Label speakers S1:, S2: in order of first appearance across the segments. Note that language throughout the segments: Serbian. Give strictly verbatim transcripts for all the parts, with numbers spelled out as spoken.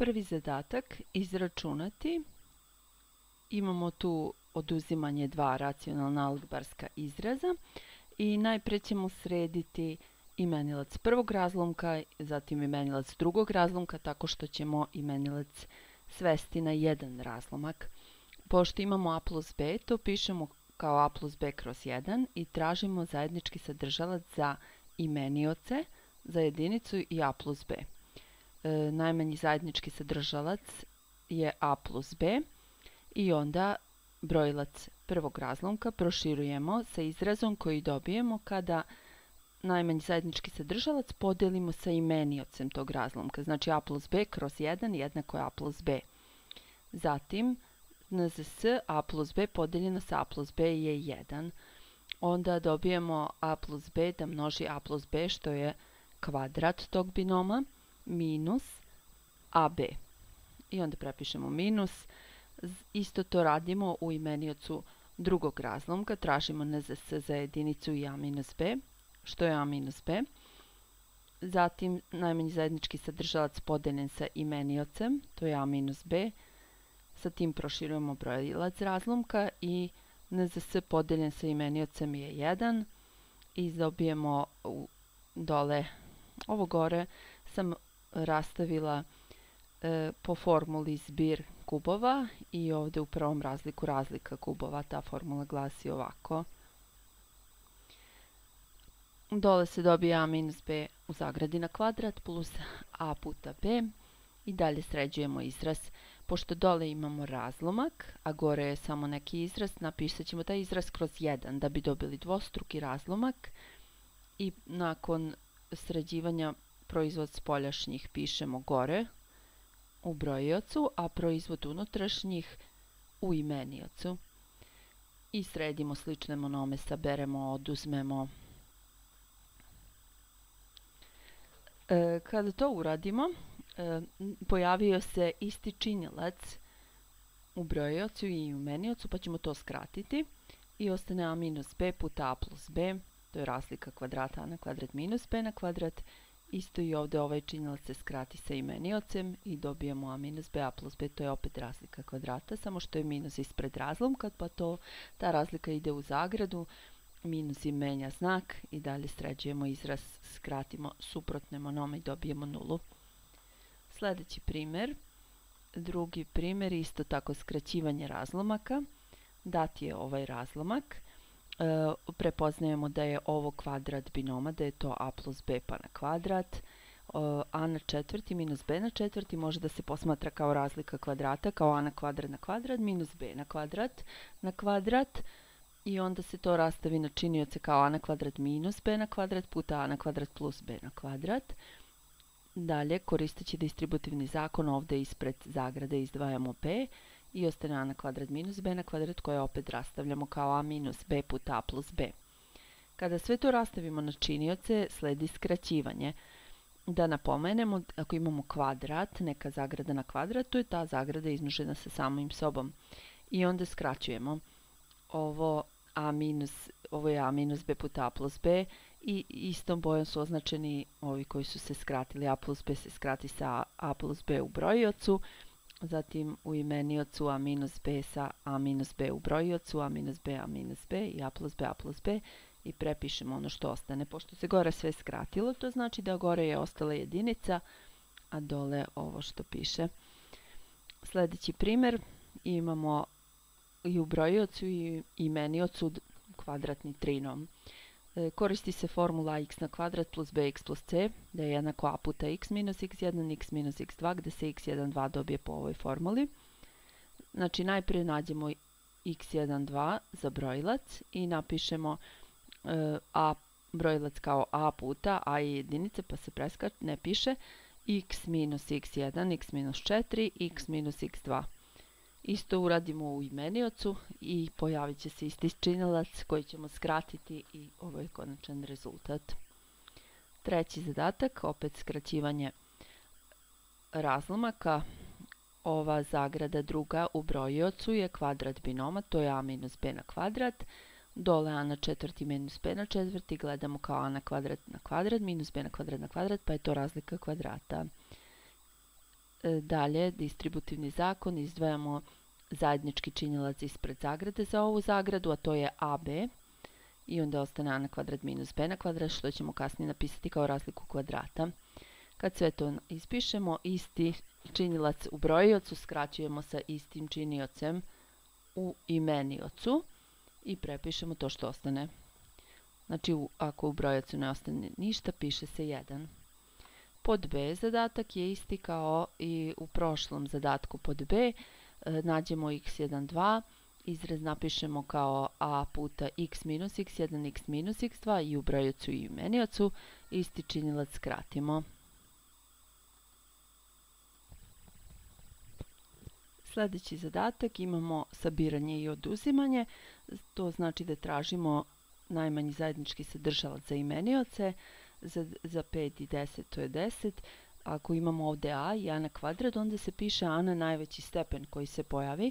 S1: Prvi zadatak izračunati. Imamo tu oduzimanje dva racionalna algebarska izraza i najpre ćemo srediti imenilac prvog razlomka, zatim imenilac drugog razlomka tako što ćemo imenilac svesti na jedan razlomak. Pošto imamo a plus b, to pišemo kao a plus b kroz jedan i tražimo zajednički sadržalac za imenioce, za jedinicu i a plus b. E, najmanji zajednički sadržalac je a plus b i onda brojilac prvog razlomka proširujemo sa izrazom koji dobijemo kada najmanji zajednički sadržalac podelimo sa imeniocem tog razlomka. Znači a plus b kroz jedan jednako je a plus b. Zatim n z s a plus b podeljeno sa a plus b je jedan. Onda dobijemo a plus b da množi a plus b što je kvadrat tog binoma minus ab. I onda prepišemo minus. Isto to radimo u imeniocu drugog razlomka. Tražimo n z s za jedinicu i a minus b, što je a minus b. Zatim najmanji zajednički sadržalac podeljen sa imeniocem, to je a minus b. Sa tim proširujemo brojilac razlomka i n z s podeljen sa imeniocem je jedan. I dobijemo dole, ovo gore sam rastavila e, po formuli zbir kubova i ovdje u prvom razliku razlika kubova. Ta formula glasi ovako. Dole se dobije a minus b u zagradi na kvadrat plus a puta b i dalje sređujemo izraz. Pošto dole imamo razlomak, a gore je samo neki izraz, napisat ćemo taj izraz kroz jedan da bi dobili dvostruki razlomak i nakon sređivanja proizvod spoljašnjih pišemo gore u brojiocu, a proizvod unutrašnjih u imeniocu. I sredimo slične monome, saberemo, oduzmemo. E, kada to uradimo, e, pojavio se isti činilac u brojiocu i imeniocu, pa ćemo to skratiti i ostane a minus b puta a plus b, to je razlika kvadrata a na kvadrat minus b na kvadrat. Isto i ovdje ovaj činilac se skrati sa imeniocem i dobijemo a minus b, a plus b, to je opet razlika kvadrata, samo što je minus ispred razlomka, pa to, ta razlika ide u zagradu, minus i menja znak i dalje sređujemo izraz, skratimo suprotne monome i dobijemo nulu. Sljedeći primjer, drugi primjer, isto tako skraćivanje razlomaka. Dat je ovaj razlomak. E, prepoznajemo da je ovo kvadrat binoma, da je to a plus b pa na kvadrat. E, a na četvrti minus b na četvrti može da se posmatra kao razlika kvadrata, kao a na kvadrat na kvadrat minus b na kvadrat na kvadrat. I onda se to rastavi na činioce kao a na kvadrat minus b na kvadrat puta a na kvadrat plus b na kvadrat. Dalje, koristeći distributivni zakon, ovdje ispred zagrade izdvajamo b i ostane a na kvadrat minus b na kvadrat koje opet rastavljamo kao a minus b puta a plus b. Kada sve to rastavimo na činioce, sledi skraćivanje. Da napomenemo, ako imamo kvadrat, neka zagrada na kvadrat, to je ta zagrada izmnožena sa samim sobom. I onda skraćujemo. Ovo, a minus, ovo je a minus b puta a plus b i istom bojom su označeni ovi koji su se skratili. A plus b se skrati sa a plus b u brojiocu. Zatim u imeniocu a minus b sa a minus b u brojiocu, a minus b, a minus b i a plus b, a plus b i prepišemo ono što ostane. Pošto se gore sve skratilo, to znači da gore je ostala jedinica, a dole ovo što piše. Sljedeći primjer, imamo i u brojiocu i imeniocu kvadratni trinom. E, koristi se formula x na kvadrat plus bx plus c, da je jednako a puta x minus x jedan, x minus x dva, gdje se x jedan, dva dobije po ovoj formuli. Znači najprije nađemo x jedan, dva za brojilac i napišemo e, a brojilac kao a puta, a je jedinica pa se preskače, ne piše, x minus x jedan, x minus četiri, x minus x dva. Isto uradimo u imeniocu i pojavit će se isti činilac koji ćemo skratiti i ovo je konačan rezultat. Treći zadatak, opet skraćivanje razlomaka. Ova zagrada druga u brojiocu je kvadrat binoma, to je a minus b na kvadrat. Dole a na četvrti minus b na četvrti gledamo kao a na kvadrat na kvadrat minus b na kvadrat na kvadrat, pa je to razlika kvadrata. Dalje, distributivni zakon, izdvajamo zajednički činilac ispred zagrade za ovu zagradu, a to je a b. I onda ostane a na kvadrat minus b na kvadrat, što ćemo kasnije napisati kao razliku kvadrata. Kad sve to ispišemo, isti činilac u brojiocu skraćujemo sa istim činiocem u imeniocu i prepišemo to što ostane. Znači, ako u brojiocu ne ostane ništa, piše se jedan. Pod b zadatak je isti kao i u prošlom zadatku pod b. E, nađemo x jedan, dva, izraz napišemo kao a puta x minus x jedan, x minus x dva i u brojiocu i imeniocu isti činilac skratimo. Sljedeći zadatak imamo sabiranje i oduzimanje. To znači da tražimo najmanji zajednički sadržalac za imenioce. Za, za pet i deset to je deset. Ako imamo ovdje a i a na kvadrat, onda se piše a na najveći stepen koji se pojavi.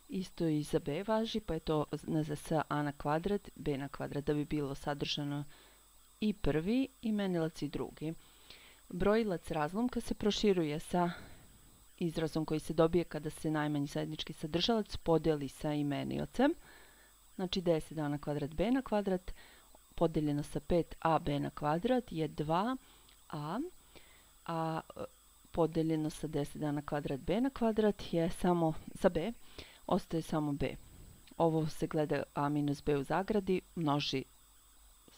S1: Isto i za b važi, pa je to za s a na kvadrat, b na kvadrat, da bi bilo sadržano i prvi imenilac i drugi. Brojilac razlomka se proširuje sa izrazom koji se dobije kada se najmanji zajednički sadržalac podijeli sa imeniocem. Znači deset a na kvadrat b na kvadrat podeljeno sa pet a b na kvadrat je dva a, a podeljeno sa deset a na kvadrat b na kvadrat je samo za b, ostaje samo b. Ovo se gleda a minus b u zagradi, množi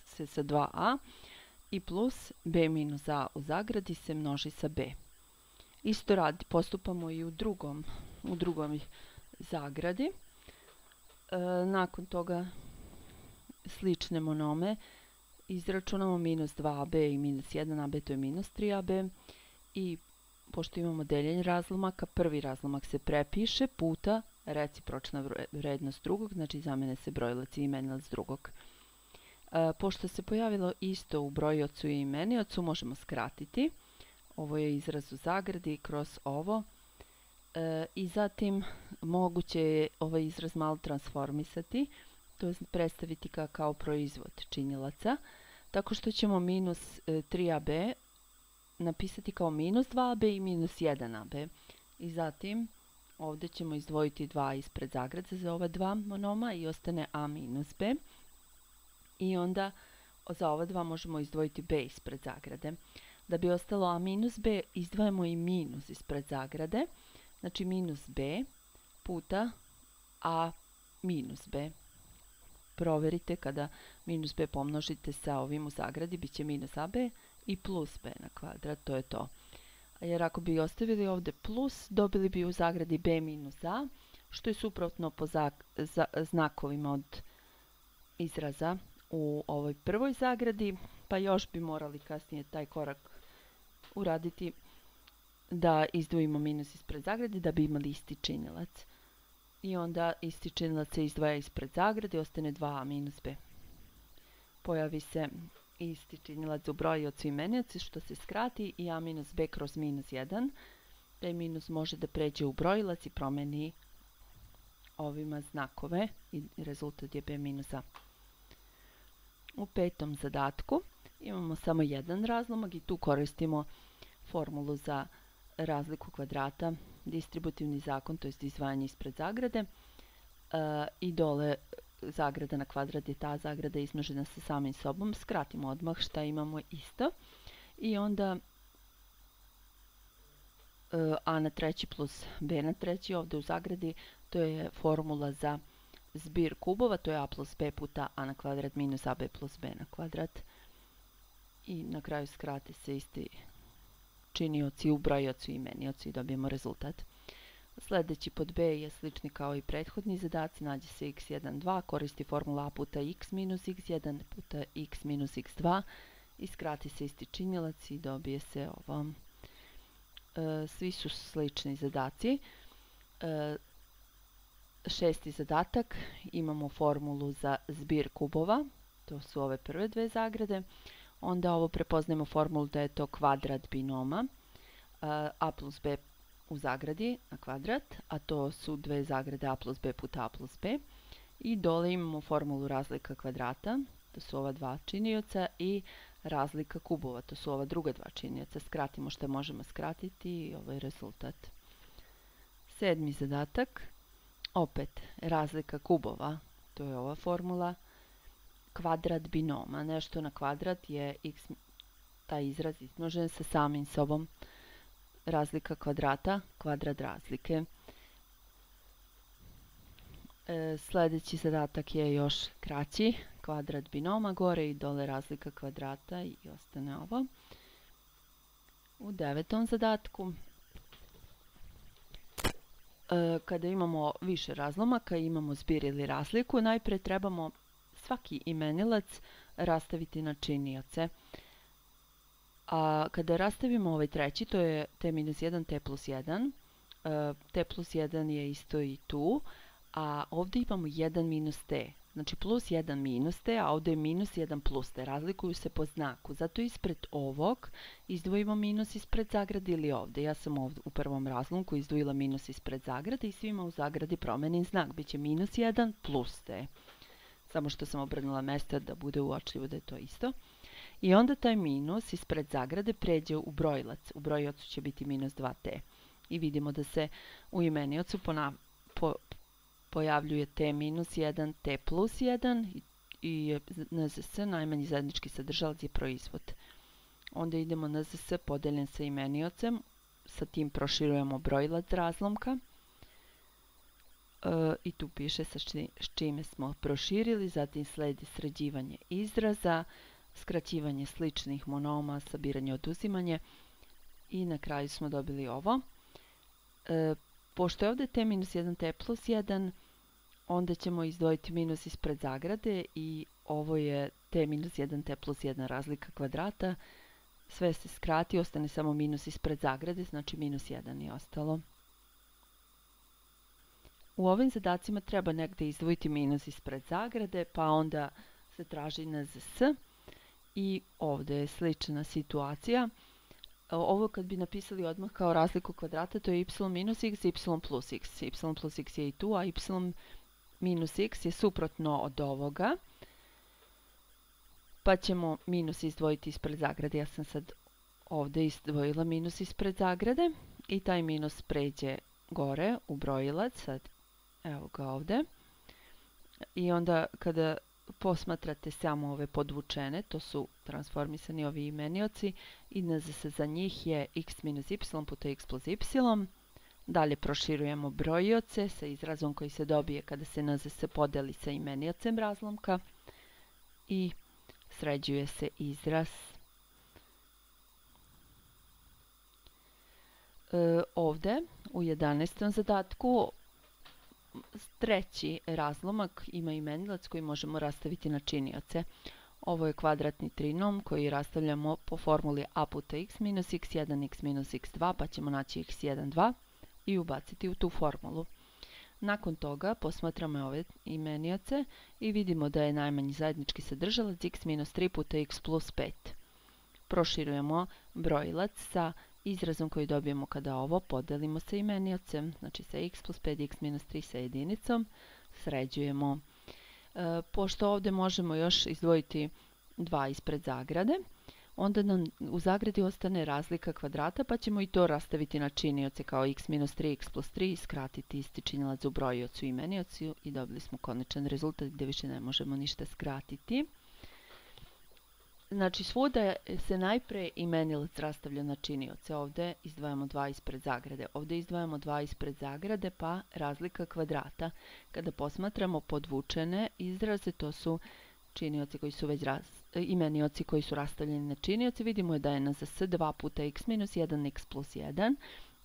S1: se sa dva a i plus b minus a u zagradi se množi sa b. Isto radi, postupamo i u drugom, u drugom zagradi. E, nakon toga slične monome izračunamo minus dva a b i minus jedan a b, to je minus tri a b. I pošto imamo deljenje razlomaka, prvi razlomak se prepiše puta recipročna vrednost drugog, znači zamene se brojilac i imenilac drugog. E, pošto se pojavilo isto u brojiocu i imeniocu, možemo skratiti. Ovo je izraz u zagradi kroz ovo. E, I zatim moguće je ovaj izraz malo transformisati, to je predstaviti ka, kao proizvod činilaca, tako što ćemo minus e, tri a b napisati kao minus dva a b i minus jedan a b. I zatim ovdje ćemo izdvojiti dva ispred zagrade za ova dva monoma i ostane a minus b. I onda za ova dva možemo izdvojiti b ispred zagrade. Da bi ostalo a minus b, izdvajamo i minus ispred zagrade. Znači minus b puta a minus b. Proverite kada minus b pomnožite sa ovim u zagradi, bit će minus ab i plus b na kvadrat, to je to. Jer ako bi ostavili ovdje plus, dobili bi u zagradi b minus a, što je suprotno po za znakovima od izraza u ovoj prvoj zagradi, pa još bi morali kasnije taj korak uraditi da izdvojimo minus ispred zagrade da bi imali isti činilac. I onda isti činilac se izdvaja ispred zagrade, ostane dva a minus b. Pojavi se isti činilac u brojiocu i imeniocu, što se skrati, i a minus b kroz minus jedan. Taj minus može da pređe u brojilac i promeni ovima znakove i rezultat je b minus a. U petom zadatku imamo samo jedan razlomak i tu koristimo formulu za razliku kvadrata, distributivni zakon, to je izdvajanje ispred zagrade. E, I dole zagrada na kvadrat je ta zagrada izmnožena sa samim sobom. Skratimo odmah šta imamo isto. I onda e, a na treći plus b na treći ovdje u zagradi, to je formula za zbir kubova, to je a plus b puta a na kvadrat minus ab plus b na kvadrat. I na kraju skrati se isti činioci u brojiocu i imeniocu i dobijemo rezultat. Sljedeći pod b je slični kao i prethodni zadaci, nađe se x jedan, dva, koristi formula a puta x minus x jedan puta x minus x dva i skrati se isti činilac i dobije se ovo. E, svi su slični zadaci. E, šesti zadatak, imamo formulu za zbir kubova, to su ove prve dve zagrade. Onda ovo prepoznajemo formulu da je to kvadrat binoma a plus b u zagradi na kvadrat, a to su dve zagrade a plus b puta a plus b. I dole imamo formulu razlika kvadrata, to su ova dva činioca, i razlika kubova. To su ova druga dva činioca. Skratimo što možemo skratiti i ovo je rezultat. Sedmi zadatak. Opet razlika kubova. To je ova formula. Kvadrat binoma. Nešto na kvadrat je x, taj izraz izmnožen sa samim sobom. Razlika kvadrata, kvadrat razlike. E, sljedeći zadatak je još kraći. Kvadrat binoma, gore i dole razlika kvadrata i ostane ovo. U devetom zadatku, e, kada imamo više razlomaka, imamo zbir ili razliku, najprije trebamo svaki imenilac rastaviti na činioce. A kada rastavimo ovaj treći, to je t minus jedan, t plus jedan. E, t plus jedan je isto i tu, a ovdje imamo jedan minus t. Znači plus jedan minus t, a ovdje je minus jedan plus t. Razlikuju se po znaku. Zato ispred ovog izdvojimo minus ispred zagrade ili ovdje. Ja sam ovdje u prvom razlomku izdvojila minus ispred zagrade i svima u zagradi promenim znak. Biće minus jedan plus t. Samo što sam obrnula mjesto da bude uočljivo da je to isto. I onda taj minus ispred zagrade pređe u brojilac. U brojiocu će biti minus dva t. I vidimo da se u imeniocu pona, po, pojavljuje t minus jedan, t plus jedan i N Z S, najmanji zajednički sadržalac, je proizvod. Onda idemo N Z S podeljen sa imeniocem. Sa tim proširujemo brojilac razlomka. E, I tu piše sa či, s čime smo proširili. Zatim sledi sređivanje izraza, skraćivanje sličnih monoma, sabiranje, oduzimanje i na kraju smo dobili ovo. E, pošto je ovdje t minus jedan, t plus jedan, onda ćemo izdvojiti minus ispred zagrade i ovo je t minus jedan, t plus jedan razlika kvadrata. Sve se skrati, ostane samo minus ispred zagrade, znači minus jedan je ostalo. U ovim zadacima treba negdje izdvojiti minus ispred zagrade, pa onda se traži N Z S. I ovdje je slična situacija. Ovo kad bi napisali odmah kao razliku kvadrata, to je y minus x, y plus x. Y plus x je i tu, a y minus x je suprotno od ovoga. Pa ćemo minus izdvojiti ispred zagrade. Ja sam sad ovdje izdvojila minus ispred zagrade. I taj minus pređe gore u brojilac. Sad, evo ga ovdje. I onda kada posmatrate samo ove podvučene, to su transformisani ovi imenioci, i N Z S za njih je x minus y puta x plus y. Dalje proširujemo brojioce sa izrazom koji se dobije kada se N Z S podeli sa imeniocem razlomka i sređuje se izraz. E, ovdje u jedanaestom zadatku treći razlomak ima imenilac koji možemo rastaviti na činioce. Ovo je kvadratni trinom koji rastavljamo po formuli a puta x minus x jedan, x minus x dva, pa ćemo naći x jedan, dva i ubaciti u tu formulu. Nakon toga posmatramo ove imenioce i vidimo da je najmanji zajednički sadržalac x minus tri puta x plus pet. Proširujemo brojilac sa izrazom koji dobijemo kada ovo podelimo sa imeniocem, znači sa x plus pet, x minus tri sa jedinicom, sređujemo. E, pošto ovdje možemo još izdvojiti dva ispred zagrade, onda nam u zagradi ostane razlika kvadrata, pa ćemo i to rastaviti na činioce kao x minus tri, x plus tri i skratiti isti činilac u brojiocu i imeniocu i dobili smo konačan rezultat gdje više ne možemo ništa skratiti. Znači svuda se najprije imenilac rastavlja na činioce. Ovdje izdvajamo dva ispred zagrade. Ovdje izdvajamo dva ispred zagrade pa razlika kvadrata. Kada posmatramo podvučene izraze, to su činioci koji su već raz, imenioci koji su rastavljeni na činioce. Vidimo da je N Z S dva puta x minus jedan, x plus jedan.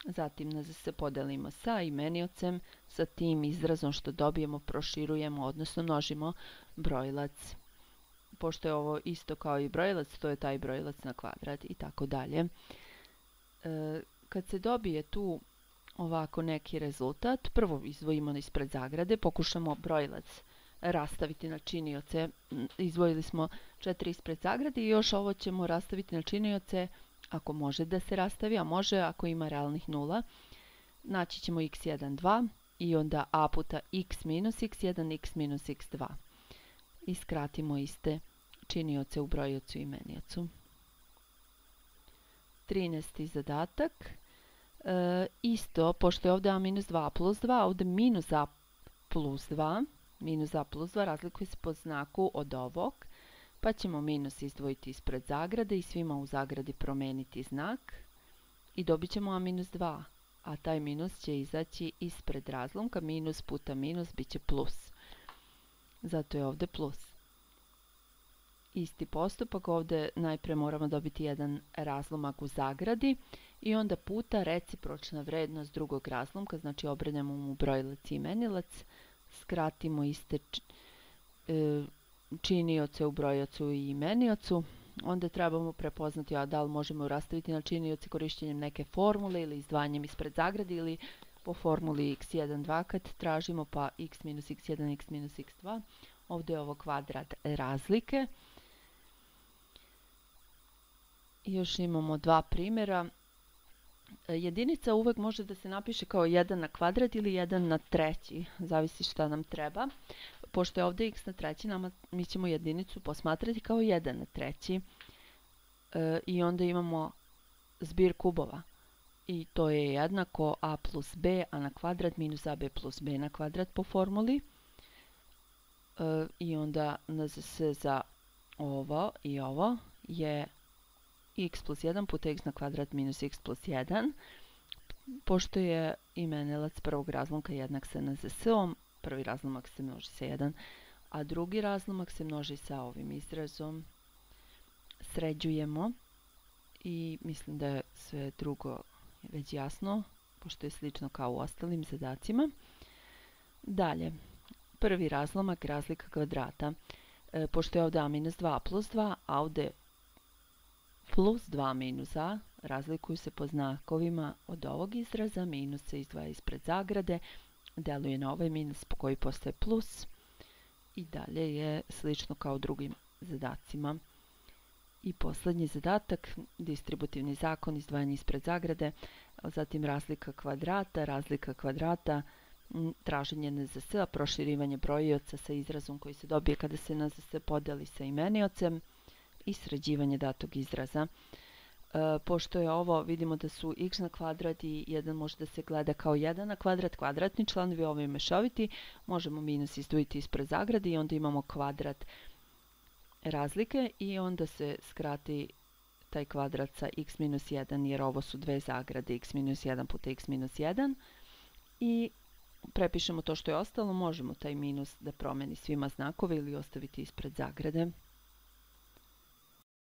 S1: Zatim N Z S podelimo sa imeniocem, sa tim izrazom što dobijemo proširujemo, odnosno množimo brojilac. Pošto je ovo isto kao i brojilac, to je taj brojilac na kvadrat i tako dalje. E, kad se dobije tu ovako neki rezultat, prvo izdvojimo ispred zagrade, pokušamo brojilac rastaviti na činioce. Izdvojili smo četiri ispred zagrade i još ovo ćemo rastaviti na činioce ako može da se rastavi, a može ako ima realnih nula. Naći ćemo x jedan, dva i onda a puta x minus x jedan, x minus x dva. I skratimo iste činioce u brojiocu i imeniocu. trinaesti zadatak. E, isto, pošto je ovdje a minus dva plus dva, ovdje minus a plus dva. Minus a plus dva razlikuje se po znaku od ovog. Pa ćemo minus izdvojiti ispred zagrade i svima u zagradi promijeniti znak. I dobit ćemo a minus dva. A taj minus će izaći ispred razlomka. Minus puta minus bit će plus. Zato je ovdje plus. Isti postupak, ovdje najprije moramo dobiti jedan razlomak u zagradi i onda puta recipročna vrednost drugog razlomka, znači obrednemo mu brojilac i imenilac, skratimo iste činioce u brojiocu i imeniocu, onda trebamo prepoznati a da li možemo rastaviti na činioce korištenjem neke formule ili izdvajanjem ispred zagrade ili po formuli x jedan dva kad tražimo pa x minus x jedan, x minus x dva. Ovdje je ovo kvadrat razlike. I još imamo dva primjera. Jedinica uvek može da se napiše kao jedan na kvadrat ili jedan na treći, zavisi šta nam treba. Pošto je ovdje x na treći, nama, mi ćemo jedinicu posmatrati kao jedan na treći. E, I onda imamo zbir kubova. I to je jednako a plus b, a na kvadrat minus ab plus b na kvadrat po formuli. E, I onda nzs za ovo i ovo je x plus jedan puta x na kvadrat minus x plus jedan. Pošto je imenilac prvog razlomka jednak sa nzs-om, prvi razlomak se množi sa jedan, a drugi razlomak se množi sa ovim izrazom. Sređujemo i mislim da je sve drugo već jasno, pošto je slično kao u ostalim zadacima. Dalje, prvi razlomak, razlika kvadrata. E, pošto je ovdje a minus dva plus dva, a ovdje plus dva minus a, razlikuju se po znakovima od ovog izraza, minus se izdvaja ispred zagrade, deluje na ovaj minus po koji postaje plus i dalje je slično kao u drugim zadacima. I posljednji zadatak, distributivni zakon, izdvajanje ispred zagrade, zatim razlika kvadrata, razlika kvadrata, traženje nzs-a, proširivanje brojioca sa izrazom koji se dobije kada se nzs podeli sa imeniocem i sređivanje datog izraza. E, pošto je ovo, vidimo da su x na kvadrat i jedan može da se gleda kao jedan na kvadrat, kvadratni članovi, ovo je mešoviti, možemo minus izdvojiti ispred zagrade i onda imamo kvadrat razlike i onda se skrati taj kvadrat sa x minus jedan jer ovo su dve zagrade, x minus jedan puta x minus jedan i prepišemo to što je ostalo, možemo taj minus da promeni svima znakove ili ostaviti ispred zagrade.